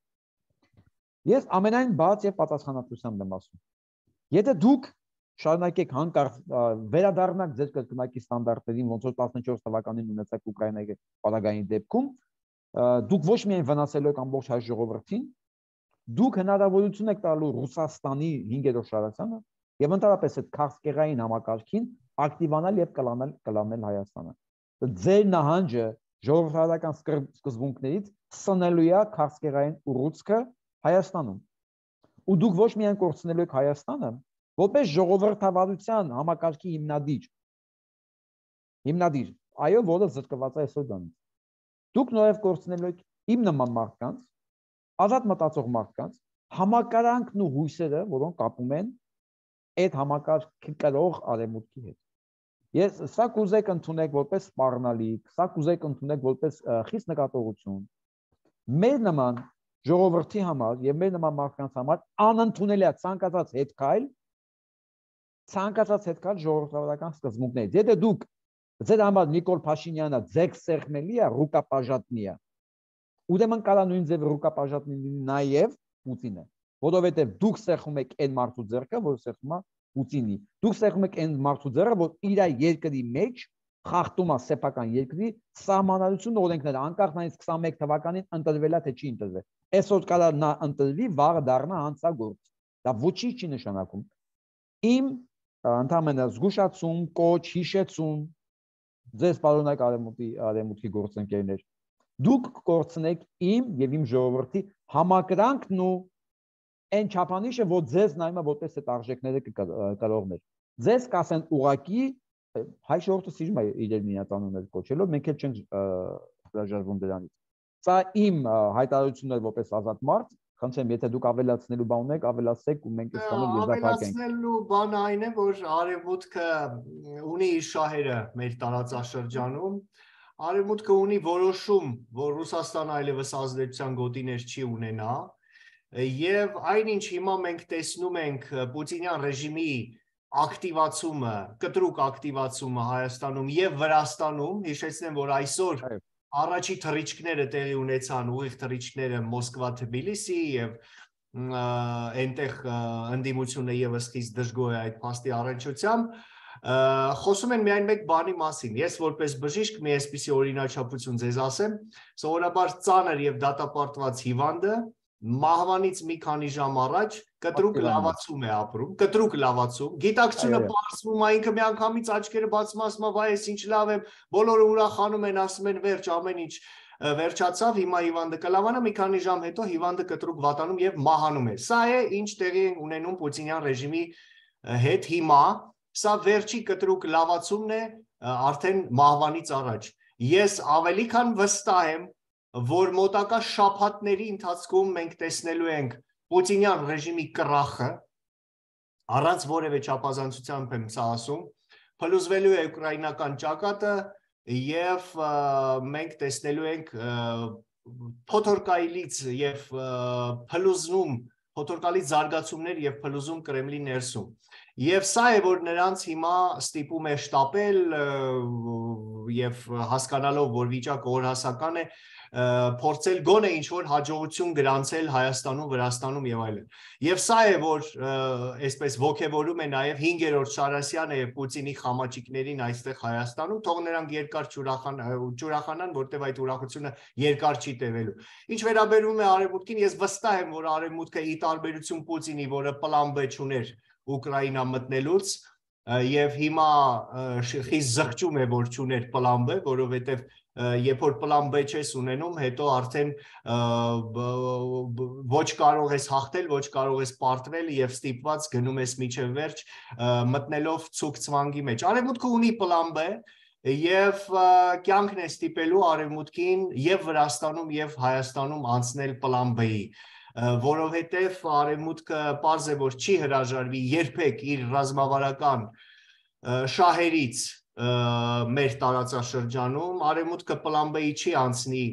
Ես ամենայն բաց եւ պատասխանատվությամբ եմ ասում։ Եթե դուք շարունակեք հանկարծ վերադառնաք ձեր կրկնակի ստանդարտներին, ոնց որ 14 թվականին ունեցաք Ուկրաինայի պարագային դեպքում, դուք ոչ միայն վնասելու եք ամբողջ հայ ժողովրդին, դուք հնարավորություն եք տալու Ռուսաստանի 5-րդ շարացանը եւ ընդհանրապես այդ քաղցկեղային համակարգին ակտիվանալ եւ կլանել Հայաստանը։ Ձեր նահանջը ժողովրդական սկզբունքներից սնելու է քաղցկեղային ուռուցքը Հայաստանում։ Ու դուք ոչ միայն կորցնելու եք Հայաստանը, որպես ժողովրդավարության համակարգի հիմնադիր, այո, որը զրկված է այսօր դրանից։ Դուք նաև կորցնելու եք իմ նման մարդկանց, ազատ մտածող մարդկանց, համակարանքն ու հույսերը, որոնք կապում են այդ համակարգի կրող արևմուտքի հետ։ Ես սա կուզեք ընդունեք որպես սպառնալիք, սա կուզեք ընդունեք որպես խիստ նկատողություն։ Մեր նման ժողովրդի համար եւ մեր նման մարդկանց համար անընդունելի է ցանկացած հետքալ ժողովրդավարական սկզբունքներից։ Եթե դուք ձեր համար Նիկոլ Փաշինյանը ձեկ սեղմելի է, ռուկապաժատնի է, ուրեմն կարա նույն ձև ռուկապաժատնի նաեւ Պուտինը, որովհետեւ դուք սեղմում եք այն մարդու ձեռքը, որ սեղմում է Պուտինի։ Դուք սեղմում եք այն մարդու ձեռքը, որ իր երկրի մեջ խախտում է սեփական երկրի սահմանադրություն օրենքները, անկախ նայից 21 թվականին ընտրվել է թե չի ընտրվել։ Այսօր կարա նա ընտրվի, վաղը դառնա հանցագործ։ Դա ոչինչ չի նշանակում։ Իմ ընդհանրապես զգուշացում, կոչ, հիշեցում ձեզ պարոնայք արևմուտքի գործընկերներ, դուք կորցնեք իմ եւ իմ ժողովրդի համակրանքն ու այն չափանիշը, որ ձեզ նայում է որպես այդ արժեքները կրողներ։ Ձեզ կասեն ուղակի հայ ժողովուրդը սիրում է իրեն իրենց անուններ կոչելով, մենք էլ չենք հրաժարվում դրանից։ Սա իմ հայտարարությունն է որպես ազատ մարդ, խնդրեմ, եթե դուք ավելացնելու բան ունեք, ավելացեք ու մենք այս բանը եզրափակենք։ Ավելացնելու բանը այն է, որ արևմուտքը ունի իր շահերը մեր տարածաշրջանում։ Արևմուտքը ունի որոշում, որ Ռուսաստանը այլևս ազդեցության գոտիներ չի ունենա, եւ այնինչ հիմա մենք տեսնում ենք Պուտինյան ռեժիմի ակտիվացումը, կտրուկ ակտիվացումը Հայաստանում եւ Վրաստանում, հիշեցնեմ, որ այսօր առաջի թռիչքները տեղի ունեցան, ուղիղ թռիչքները Մոսկվա, Թբիլիսի եւ այնտեղ ընդդիմությունը եւս խիստ դժգոհ է այդ փաստի առնչությամբ։ Խոսում են միայն մեկ բանի մասին։ Ես որպես բժիշկ մի այսպիսի օրինաչափություն ձեզ ասեմ, սովորաբար ծանր եւ դատապարտված հիվանդը մահվանից մի քանի ժամ առաջ կտրուկ լավացում է ապրում, կտրուկ լավացում, գիտակցությունը բարձվում է, ինքը միանգամից աչքերը բացում ասում է, վայ, ես ինչ լավ եմ, բոլորը ուրախանում են, ասում են վերջ, ամեն ինչ վերջացավ, հիմա հիվանդը կլավանա, մի քանի ժամ հետո հիվանդը կտրուկ վատանում եւ մահանում է։ Սա է ինչ տեղի ունենում Պուտինյան ռեժիմի հետ հիմա, սա վերջի կտրուկ լավացումն է արդեն մահվանից առաջ։ Ես ավելի քան վստահ եմ, որ մոտակա շաբաթների ընթացքում մենք տեսնելու ենք Պուտինյան ռեժիմի կռախը, առանց որևէ չափազանցությամբ եմ սա ասում, փլուզվելու է ուկրաինական ճակատը եւ մենք տեսնելու ենք փոթորկայից եւ փլուզում փոթորկալից զարգացումներ եւ փլուզում Կրեմլի ներսում։ Եվ սա է, որ նրանց հիմա ստիպում է շտապել եւ հասկանալով, որ վիճակը օրհասական է, փորձել գոնե ինչ-որ հաջողություն գրանցել Հայաստանում, Վրաստանում եւ այլն։ Եվ սա է, որ այսպես ոգևորում է նաեւ 5-րդ Շարասյանը եւ Պուտինի խամաճիկներին այստեղ Հայաստանում, թող նրանք երկար ուրախանան, որտեղ այդ ուրախությունը երկար չի տևելու։ Ինչ վերաբերում է Արևմուտքին, ես վստահ եմ, որ Արևմուտքը ի տարբերություն Պուտինի, որը պլան B չուներ Ուկրաինա մտնելուց, եւ հիմա խիստ զղջում է, որ չուներ պլան B, որովհետեւ երբ որ պլան B չես ունենում, հետո արդեն ոչ կարող ես հաղթել, ոչ կարող ես պարտվել եւ ստիպված գնում ես միջև վերջ մտնելով ցուկ ցվանգի մեջ։ Արևմուտքը ունի պլան B եւ կյանքն է ստիպելու Արևմուտքին եւ Վրաստանում եւ Հայաստանում անցնել պլան B-ի, որովհետեւ Արևմուտքը պարզ է, որ չի հրաժարվի երբեք իր ռազմավարական շահերից մեր տարածաշրջանում, Արևմուտքը պլան B-ի չի անցնի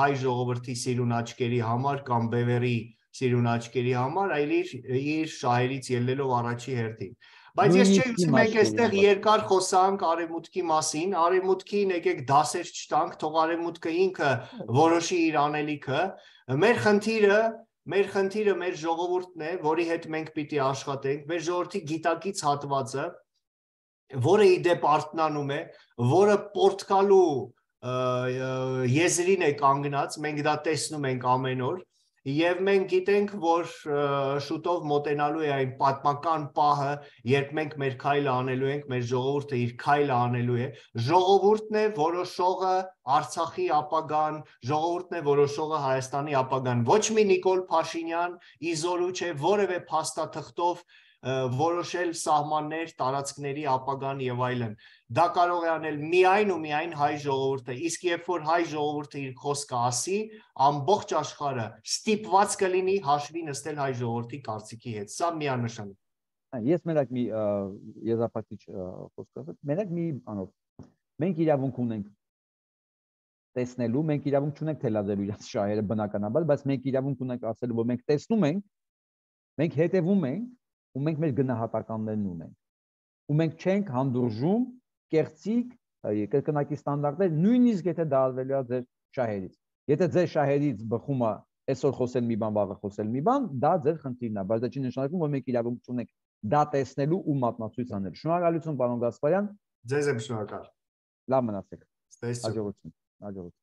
հայ ժողովրդի սիրուն աչքերի համար կամ բևերի սիրուն աչքերի համար, այլ իր շահերից ելնելով առաջի հերթին։ Բայց ես չէ ուզում մենք այստեղ երկար խոսանք Արևմուտքի մասին, Արևմուտքին եկեք դասեր չտանք, թող Արևմուտքը ինքը որոշի իր անելիքը, մեր խնդիրը մեր ժողովուրդն է, որի հետ մենք պիտի աշխատենք, մեր ժողովրդի գիտակից հատվածը, որը իդեպ արթնանում է, որը պորտկալու եզրին է կանգնած, մենք դա տեսնում ենք ամեն օր, եւ մենք գիտենք, որ շուտով մոտենալու է այն պատմական պահը, երբ մենք մեր քայլը անելու ենք, մեր ժողովուրդը իր քայլը անելու է, ժողովուրդն է որոշողը Արցախի ապագան, ժողովուրդն է որոշողը Հայաստանի ապագան, ոչ մի Նիկոլ Փաշինյան իզորու չէ որևէ փաստաթղթով որոշել սահմաններ, տարածքների ապագան եւ այլն։ Դա կարող է անել միայն ու միայն հայ ժողովուրդը, իսկ երբ որ հայ ժողովուրդը իր խոսքը ասի, ամբողջ աշխարհը ստիպված կլինի հաշվի նստել հայ ժողովրդի կարծիքի հետ։ Սա միանշանակ է։ Ես մենակ մի եզրափակիչ խոսք ասեմ, մենակ մի անով։ Մենք իրավունք ունենք տեսնելու, մենք իրավունք չունենք թելադրելու իրաց շահերը բնականաբար, բայց մենք իրավունք ունենք ասելու, որ մենք տեսնում ենք, մենք հետևում ենք ու մենք մեր գնահատականներն ունենք։ Ու մենք չենք հանդուրժում կեղծիք կրկնակի ստանդարտներ, նույնիսկ եթե դա արվելու է ձեր շահերից։ Եթե ձեր շահերից բխում է այսօր խոսել մի բան, վաղը խոսել մի բան, դա ձեր խնդիրն է, բայց դա չի նշանակում, որ մենք իրավունք ունենք դա տեսնելու ու մատնացույց անել։ Շնորհակալություն, պարոն Գասպարյան։ Ձեզ եմ շնորհակալ։ Լավ մնացեք։ Հաջողություն։ Հաջողություն։